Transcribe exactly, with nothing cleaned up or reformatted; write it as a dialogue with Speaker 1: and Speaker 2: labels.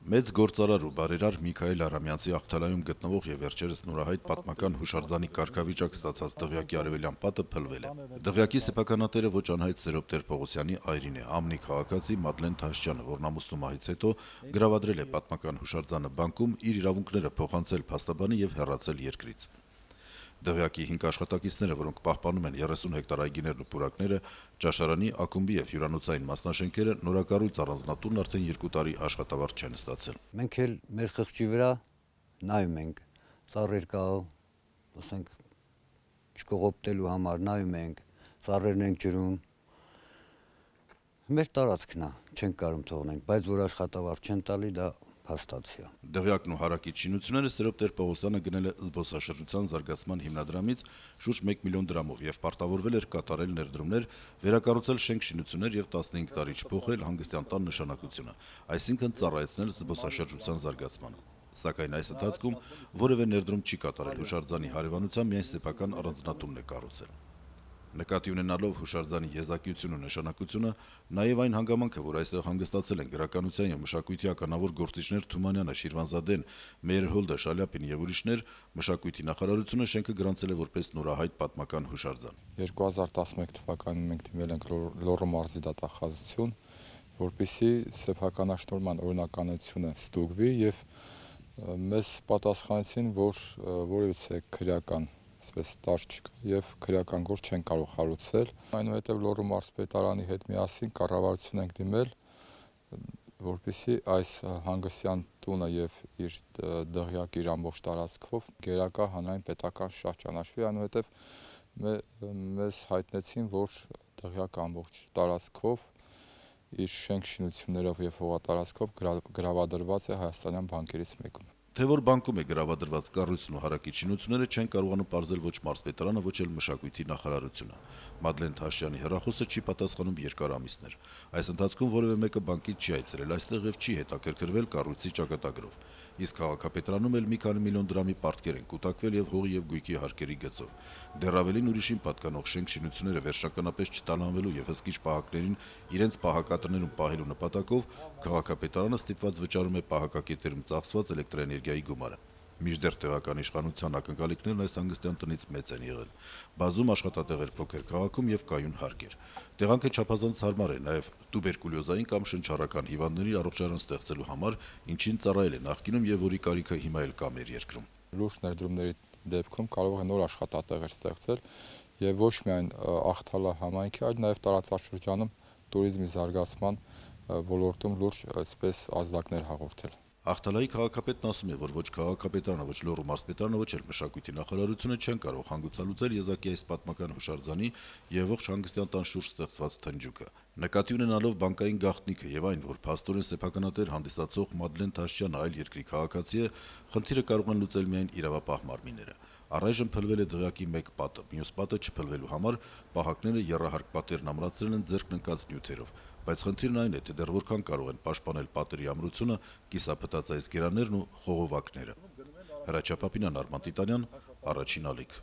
Speaker 1: Մեծ գործարար ու բարերար Միքայել Արամյանցի Աղթալայում գտնվող եւ վերջերս նորահայտ պատմական հուշարձանի կարգավիճակ ստացած դղյակի արևելյան պատը փլվել է։ Դղյակի սեփականատերը ոչ անհայտ Սերոբ Տեր-Պողոսյանի այրին է, Ամնի քաղաքացի Մադլեն Թաշչյանը, որն ամուսնու մահից հետո գրավադրել է պատմական հուշարձանը բանկում, իր իրավունքները փոխանցել փաստաբանի եւ հեռացել երկրից։ Դղյակի հինգ աշխատակիցները, որոնք պահպանում են երեսուն հեկտար այգիներն ու պուրակները, ճաշարանի, ակումբի եւ հյուրանոցային մասնաշենքերը, նորակառույց առանձնատունն արդեն երկու տարի աշխատավարձ չեն ստացել։
Speaker 2: Մենք էլ մեր խղճի վրա նայում ենք, ծառեր կա, ասենք չկողոպտելու համար նայում ենք, ծառերն ենք ջրում։ Մեր տարածքն է, չենք կարող թողնենք, բայց որ աշխատավարձ չեն տալի, դա փաստացի է։
Speaker 1: Դղյակն ու հարակից շինությունները Սերոբ Տեր-Պողոսյանը գնել է զբոսաշրջության զարգացման հիմնադրամից շուրջ մեկ միլիոն դրամով եւ պարտավորվել էր կատարել ներդրումներ, վերակառուցել շենք-շինություններ եւ տասնհինգ տարի չփոխել հանգստյան տան նշանակությունը, այսինքն ծառայեցնել զբոսաշրջության զարգացմանը։ Սակայն այս ընթացքում որևէ ներդրում չի կատարել հուշարձանի հարևանությամբ, միայն սեփական առանձնատունն է կառուցել։ Նկատի ունենալով հուշարձանի եզակիությունն ու նշանակությունը, նաև այն հանգամանքը, որ այստեղ հանգստացել են գրականության եւ մշակույթի ականավոր գործիչներ Թումանյանը, Շիրվանզադեն, Մեյերհոլդը, Շալյապին եւ ուրիշներ, մշակույթի նախարարությունը շենքը գրանցել է որպես նորահայտ պատմական հուշարձան։
Speaker 3: երկու հազար տասնմեկ թվականին մենք դիմել ենք Լոռու մարզի դատախազություն, որպեսզի սեփականաշնորհման օրինականությունը ստուգվի եւ մեզ պատասխանեցին, որ որևիցե քրեական այսպես տար չկա եւ քրեական գործ չեն կարող հարուցել։ Այնուհետեւ Լոռու մարզպետարանի հետ միասին կառավարություն ենք դիմել, որպեսզի այս հանգստյան տունը եւ իր դղյակի իր ամբողջ տարածքով գերակա հանրային պետական շահ ճանաչվի, այնուհետեւ մեզ հայտնեցին, որ դղյակը ամբողջ տարածքով իր շենք-շինություններով եւ հողատարածքով գրավադրված է հայաստանյան բանկերից մեկում։
Speaker 1: Թե որ բանկում է գրավադրված կառույցն ու հարակից շինությունները չեն կարողանում պարզել ոչ մարզպետարանը, ոչ էլ մշակույթի նախարարությունը։ Մադլեն Թաշչյանի հեռախոսը չի պատասխանում երկար ամիսներ։ Այս ընթացքում որևէ մեկը բանկից չի այցելել այստեղ եւ չի հետաքրքրվել կառույցի ճակատագրով։ Իսկ քաղաքապետարանում էլ մի քանի միլիոն դրամի պարտքեր են կուտակվել եւ հողի եւ գույքի հարկերի գծով։ Դեռ ավելին ուրիշին պատկանող շենք-շինությունները վերջականապես չտանանվելու եւ հսկիչ պահակներին իրենց պահակատներում պահելու նպատակով քաղաքապետարանը ստիպված վճարում է պահակակետերում ծախսված էլեկտրաէներգիայի գումարը։ Մինչդեռ տեղական իշխանության ակնկալիքներն այս հանգստյան տնից մեծ են եղել։ Բազում աշխատատեղեր փոքր քաղաքում եւ կայուն հարկեր։ Տեղանքը չափազանց հարմար է նաեւ տուբերկուլյոզային կամ շնչառական հիվանդների առողջարան ստեղծելու համար, ինչին ծառայել է նախկինում եւ որի կարիքը հիմա էլ կա մեր երկրում։
Speaker 3: Լուրջ ներդրումների դեպքում կարող է նոր աշխատատեղեր ստեղծել եւ ոչ միայն Աղթալա համայնքի, այլ նաեւ տարածաշրջանում տուրիզմի զարգացման ոլորտում լուրջ այսպես ազդակներ հաղորդել։
Speaker 1: Աղթալայի քաղաքապետն ասում է, որ ոչ քաղաքապետարանը, ոչ Լոռու մարզպետարանը, ոչ էլ մշակույթի նախարարությունը չեն կարող հանգուցալուծել եզակի այս պատմական հուշարձանի եւ ողջ հանգստյան տան շուրջ ստեղծված թնջուկը։ Նկատի ունենալով բանկային գաղտնիքը եւ այն, որ փաստորեն սեփականատեր հանդիսացող Մադլեն Թաշչյանը այլ երկրի քաղաքացի է, խնդիրը կարող են լուծել միայն իրավապահ մարմինները։ Առայժմ փլվել է դղյակի մեկ պատը, մյուս պատը չփլվելու համար պահակները եռահարկ պատերն ամրացրել են ձեռքն ընկած նյութերով, բայց խնդիրն այն է, թե դեռ որքան կարող են պաշտպանել պատերի ամրությունը կիսափտած այս գերաններն ու խողովակները։ Հրաչյա Պապինյան, Արման Տիտանյան, Առաջին ալիք։